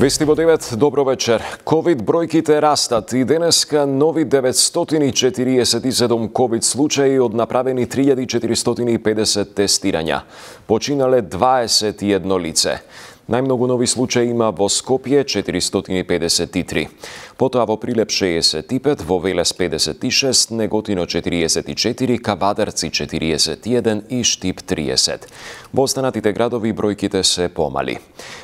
Вести во 9, добро вечер. Ковид бројките растат и денеска нови 947 ковид случаи од направени 3450 тестирања. Починале 21 лице. Најмногу нови случаи има во Скопје 453. Потоа во Прилеп 65, во Велес 56, Неготино 44, Кавадарци 41 и Штип 30. Во останатите градови бројките се помали.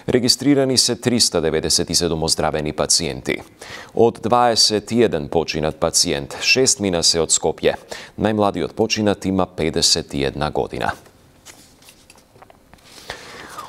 Регистрирани се 397 оздравени пациенти. Од 21 починат пациент, 6 мина се од Скопје. Најмладиот починат има 51 година.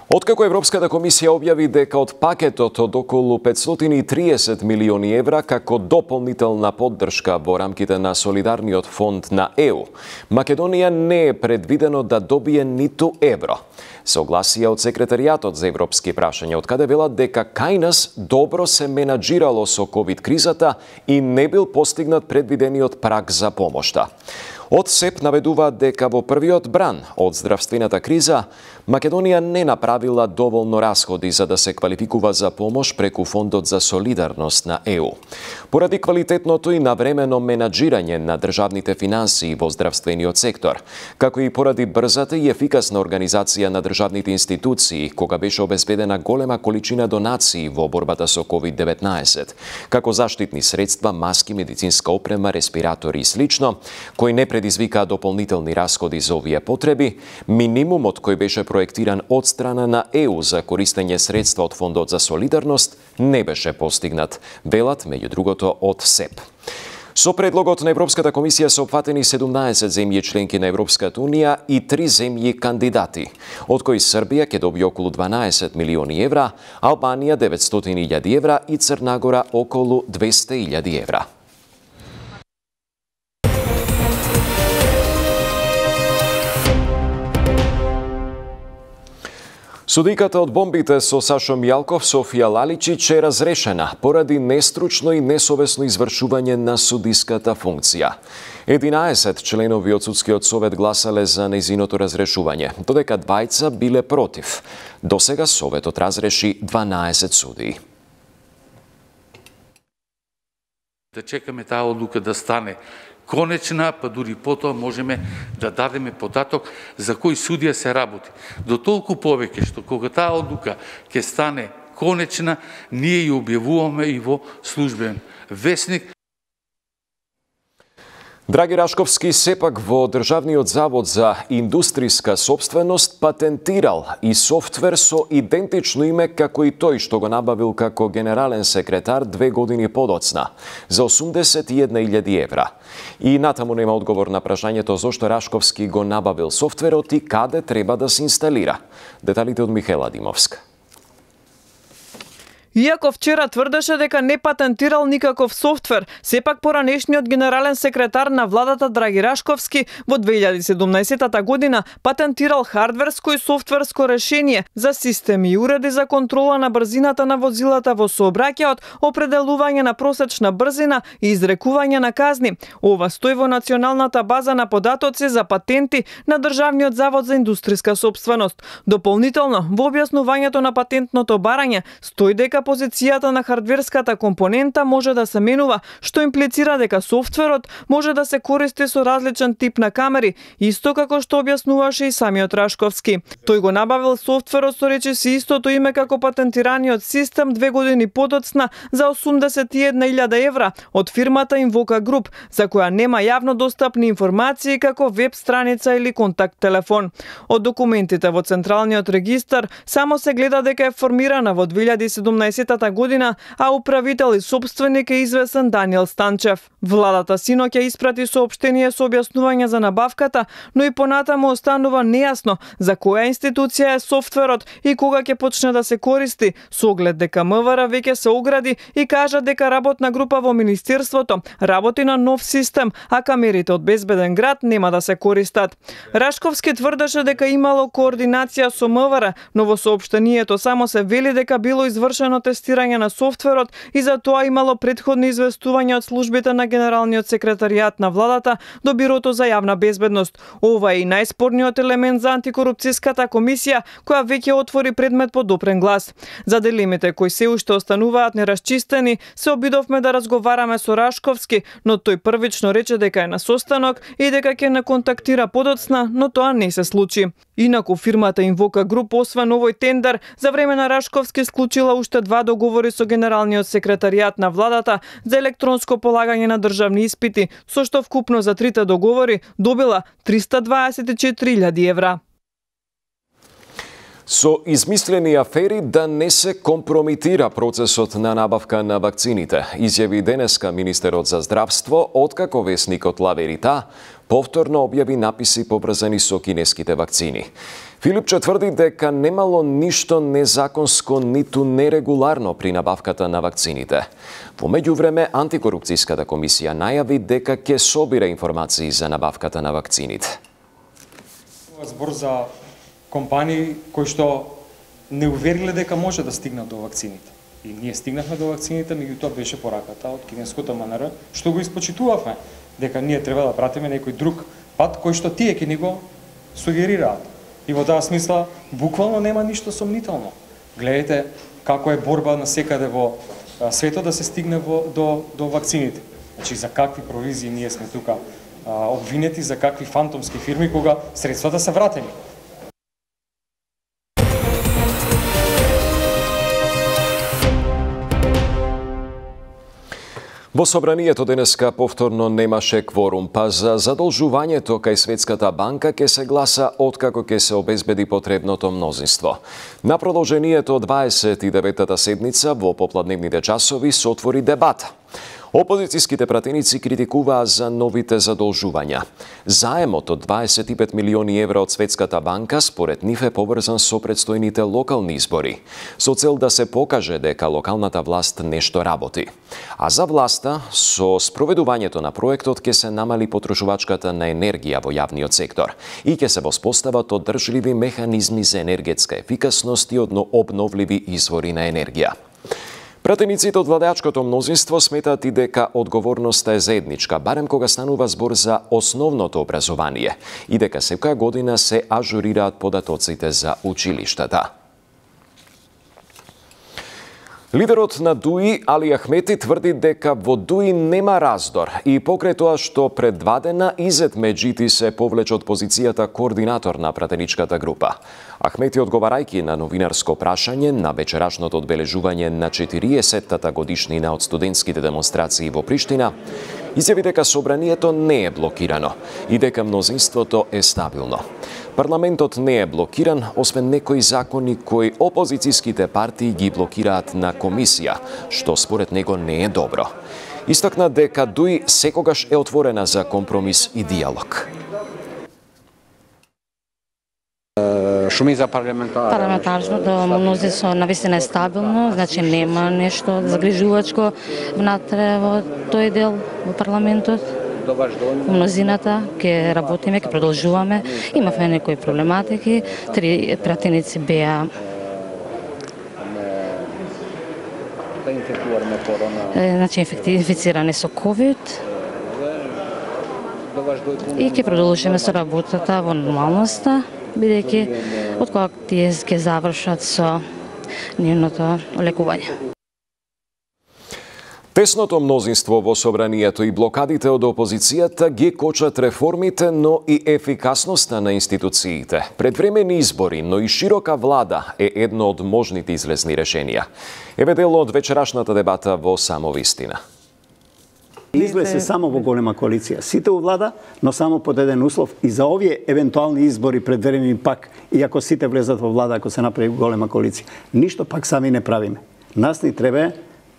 Откако Европската комисија објави дека од пакетот од околу 530 милиони евра како дополнителна поддршка во рамките на солидарниот фонд на ЕУ, Македонија не е предвидено да добие ниту евро. Согласија од секретаријатот за европски прашања, од каде велат дека кај нас добро се менаџирало со ковид кризата и не бил постигнат предвидениот праг за помошта. Од СЕП наведуваат дека во првиот бран од здравствената криза, Македонија не направила доволно расходи за да се квалификува за помош преку Фондот за солидарност на ЕУ. Поради квалитетното и навремено менаџирање на државните финансии во здравствениот сектор, како и поради брзата и ефикасна организација на државните институции, кога беше обезбедена голема количина донации во борбата со COVID-19, како заштитни средства, маски, медицинска опрема, респиратори и слично, кои не предизвикаа дополнителни расходи за овие потреби, минимумот кој беше проектиран од страна на ЕУ за користење средства од Фондот за солидарност не беше постигнат, велат меѓу другото од СЕП. Со предлогот на Европската комисија се опфатени 17 земји членки на Европската унија и 3 земји кандидати, од кои Србија ќе добие околу 12 милиони евра, Албанија 900.000 евра и Црна Гора околу 200.000 евра. Судиката од бомбите со Сашо Мијалков, Софија Лаличич е разрешена поради нестручно и несовесно извршување на судиската функција. 11 членови од судскиот совет гласале за нејзиното разрешување, додека двајца биле против. Досега советот разреши 12 судии. Да чекаме таа одлука да стане конечна, па дури потоа можеме да дадеме податок за кој судија се работи. До толку повеќе што кога таа одлука ќе стане конечна, ние ја објавуваме и во службен весник. Драги Рашковски сепак во Државниот завод за индустријска собственост патентирал и софтвер со идентично име како и тој што го набавил како генерален секретар 2 години подоцна за 81.000 евра. И натаму нема одговор на прашањето зошто Рашковски го набавил софтверот и каде треба да се инсталира. Деталите од Михаела Димовска. Иако вчера тврдеше дека не патентирал никаков софтвер, сепак поранешниот генерален секретар на владата Драги Рашковски во 2017 година патентирал хардверско и софтверско решение за системи и уреди за контрола на брзината на возилата во сообраќајот, определување на просечна брзина и изрекување на казни. Ова стои во националната база на податоци за патенти на Државниот завод за индустријска собственост. Дополнително, во објаснувањето на патентното барање стои дека позицијата на хардверската компонента може да се менува, што имплицира дека софтверот може да се користи со различен тип на камери, исто како што објаснуваше и самиот Рашковски. Тој го набавил софтверот со речиси истото име како патентираниот систем 2 години подоцна за 81.000 евра од фирмата Invoca Group, за која нема јавно достапни информации како веб страница или контакт телефон. Од документите во Централниот регистар само се гледа дека е формирана во 2017 година, а управител и собственик е известен Даниел Станчев. Владата синоќ ја испрати соопштение со објаснување за набавката, но и понатаму останува нејасно за која институција е софтверот и кога ќе почне да се користи, со оглед дека МВР веќе се огради и кажа дека работна група во Министерството работи на нов систем, а камерите од Безбеден град нема да се користат. Рашковски тврдеше дека имало координација со МВР, но во соопштението само се вели дека било извршено повторно тестирање на софтверот и за тоа имало претходни известувања од службите на Генералниот секретаријат на владата до Бирото за јавна безбедност. Ова е и најспорниот елемент за антикорупцијската комисија, која веќе отвори предмет по допрен глас. За дилемите кои се уште остануваат нерасчистени, се обидовме да разговараме со Рашковски, но тој првично рече дека е на состанок и дека ќе не контактира подоцна, но тоа не се случи. Инаку фирмата Инвока Груп, освен овој тендер, за време на Рашковски склучила уште 2 договори со Генералниот секретаријат на владата за електронско полагање на државни испити, со што вкупно за 3 договори добила 324.000 евра. Со измислени афери да не се компромитира процесот на набавка на вакцините, изјави денеска министерот за здравство, откако весникот Ла Верита повторно објави написи поврзани со кинеските вакцини. Филипче тврди дека немало ништо незаконско ниту нерегуларно при набавката на вакцините. Во меѓувреме, антикорупцијската комисија најави дека ќе собира информации за набавката на вакцините. Збор за компании кои што не увериле дека може да стигнат до вакцините. И ние стигнахме до вакцините, меѓутоа беше пораката од кинеското МНР, што го испочитувавме, дека ние треба да пратиме некој друг пат кој што тие ќе ни го сугерираат. И во таа смисла, буквално нема ништо сомнително. Гледате како е борба на секаде во светот да се стигне до вакцините. Значи, за какви провизии ние сме тука обвинети, за какви фантомски фирми, кога средствата се вратени. Во собранието денеска повторно немаше кворум, па за задолжувањето кај Светската банка ќе се гласа откако ќе се обезбеди потребното мнозинство. На продолжението 29-та седница во попладневните часови се отвори дебата. Опозицијските пратеници критикуваа за новите задолжувања. Заемот од 25 милиони евра од Светската банка според нив е поврзан со предстојните локални избори, со цел да се покаже дека локалната власт нешто работи. А за власта, со спроведувањето на проектот ќе се намали потрошувачката на енергија во јавниот сектор и ќе се воспостават одржливи механизми за енергетска ефикасност и обновливи извори на енергија. Пратениците од владеачкото мнозинство сметаат и дека одговорноста е заедничка, барем кога станува збор за основното образование и дека секоја година се ажурираат податоците за училиштата. Лидерот на ДУИ Али Ахмети тврди дека во ДУИ нема раздор и покрај тоа што предвадена Изет Меджити се повлече од позицијата координатор на пратеничката група. Ахмети, одговарајќи на новинарско прашање на вечерашното одбележување на 40-тата годишнина од студентските демонстрации во Приштина, изјави дека собранието не е блокирано и дека мнозинството е стабилно. Парламентот не е блокиран, освен некои закони кои опозицијските партии ги блокираат на комисија, што според него не е добро. Истакна дека ДУИ секогаш е отворена за компромис и диалог. Парламентарното мнозинство навистина е стабилно, значи нема нешто загрижувачко внатре во тој дел во парламентот. Мнозината ќе работиме, ќе продолжуваме. Имавме некои проблематики, 3 пратеници беа инфицирани со COVID и ќе продолжиме со работата во нормалноста, бидејќи откога тие ќе завршат со нивното лекување. Тесното мнозинство во собранието и блокадите од опозицијата ги кочат реформите, но и ефикасноста на институциите. Предвремени избори, но и широка влада е едно од можните излезни решенија. Еве дел од вечерашната дебата во Само вистина. Излезе само во голема коалиција. Сите у влада, но само под еден услов и за овие евентуални избори предвремени пак, иако сите влезат во влада, ако се направи голема коалиција. Ништо пак сами не правиме. Нас ни треба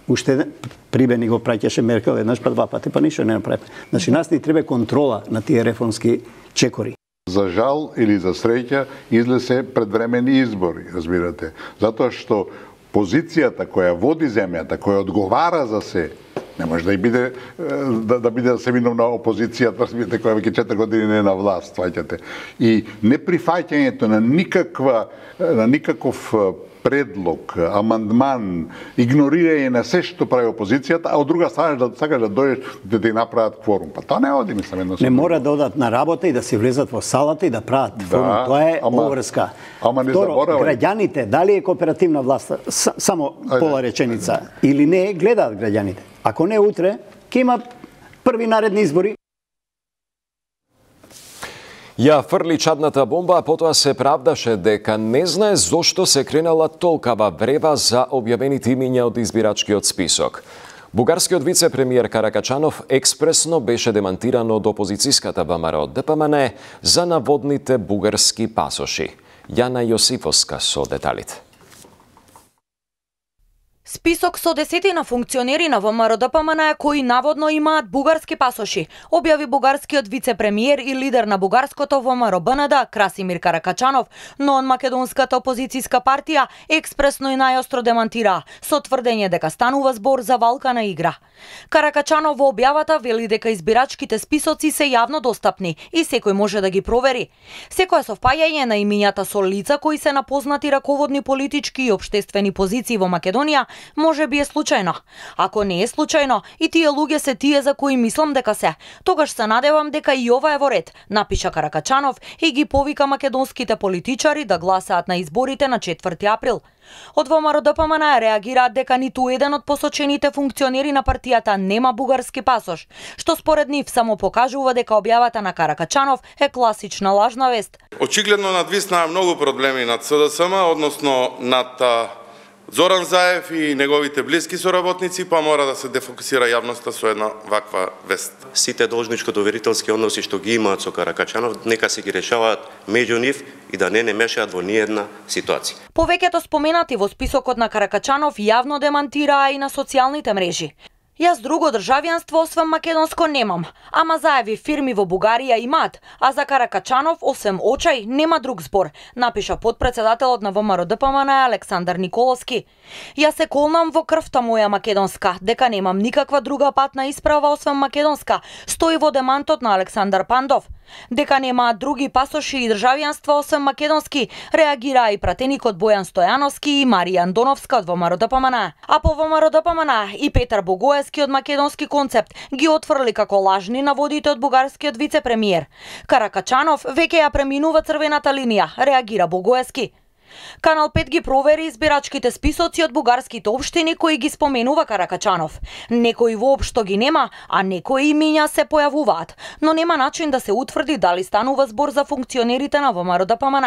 уште прибени го праќаше Меркел еднаш па 2 пати, па ништо не направи. Значи нас ни треба контрола на тие реформски чекори. За жал или за среќа излезе предвремени избори, разбирате. Затоа што позицијата која води земјата, која одговара за се, Не може да и биде да биде семиновна опозицијата, која веќе 4 години не е на власт, сваќате. И неприфаќањето на никаков предлог, амандман, игнорирање на се што прави опозицијата, а од друга страна сакаш да дојдеш да ти направат кворум. Па тоа не оди, мислам, едно. Не мора да одат на работа и да си влезат во салата и да прават кворум. Тоа е поврска. Ама не Второ, заборавај. граѓаните, дали е кооперативна власт, само пола реченица, или не, гледаат граѓаните. Ако не утре, ќе има први наредни избори. Ја фрли чадната бомба, а потоа се правдаше дека не знае зошто се кренала толкава врева за објавените имиња од избирачкиот список. Бугарскиот вице-премиер Каракачанов експресно беше демантиран од опозицијската ВМРО ДПМН за наводните бугарски пасоши. Јана Јосифовска со деталите. Список со десетина функционери на ВМРО ДПМН кои наводно имаат бугарски пасоши, објави бугарскиот вице-премиер и лидер на бугарското ВМРО БНД Красимир Каракачанов, но он македонската опозицијска партија експресно и најостро демантира, со тврдење дека станува збор за валкана игра. Каракачанов во објавата вели дека избирачките списоци се јавно достапни и секој може да ги провери. Секое совпаѓање на имињата со лица кои се на познати раководни политички и општествени позиции во Македонија може би е случајно. Ако не е случајно, и тие луѓе се тие за кои мислам дека се, тогаш се надевам дека и ова е во ред, напиша Каракачанов и ги повика македонските политичари да гласаат на изборите на 4 април. Од ВМРО ДПМН реагираат дека ниту еден од посочените функционери на партијата нема бугарски пасош, што според нив само покажува дека објавата на Каракачанов е класична лажна вест. Очигледно надвиснаа многу проблеми над СДСМ, односно над Зоран Заев и неговите блиски соработници, па мора да се дефокусира јавноста со една ваква вест. Сите должничко-доверителски односи што ги имаат со Каракачанов, нека се ги решаваат меѓу нив и да не мешаат во ниедна ситуација. Повеќето споменати во списокот на Каракачанов јавно демантираа и на социјалните мрежи. Јас друго државјанство освен македонско немам, ама Заеви фирми во Бугарија имаат, а за Каракачанов освен очај нема друг збор, напиша потпредседателот на ВМРО ДПМН Александар Николовски. Јас се колнам во крвта моја македонска, дека немам никаква друга патна исправа освен македонска, стои во демантот на Александар Пандов. Дека немаат други пасоши и државјанства освен македонски, реагираа и пратеникот Бојан Стојановски и Марија Андоновска од ВМРО ДПМН. А по ВМРО ДПМН и Петар Богоевски од Македонски концепт ги отфрли како лажни наводите од бугарскиот вице-премиер. Каракачанов веќе ја преминува црвената линија, реагира Богоевски. Канал 5 ги провери избирачките списоци од бугарските општини кои ги споменува Каракачанов. Некои воопшто ги нема, а некои имиња се појавуваат, но нема начин да се утврди дали станува збор за функционерите на ВМРО ДПМН.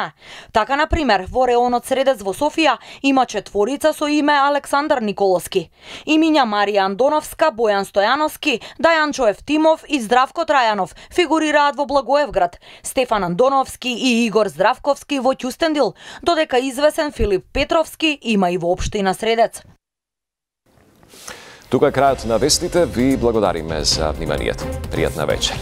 Така, на пример, во реонот Средец во Софија има 4 со име Александар Николовски. Имиња Марија Андоновска, Бојан Стојановски, Дајанчо Евтимов и Здравко Трајанов фигурираат во Благоевград, Стефан Андоновски и Игор Здравковски во Ќустендил, додека извесен Филип Петровски има и во општина Средец. Тука е крајот на вестите. Ви благодариме за вниманието. Пријатна вечер.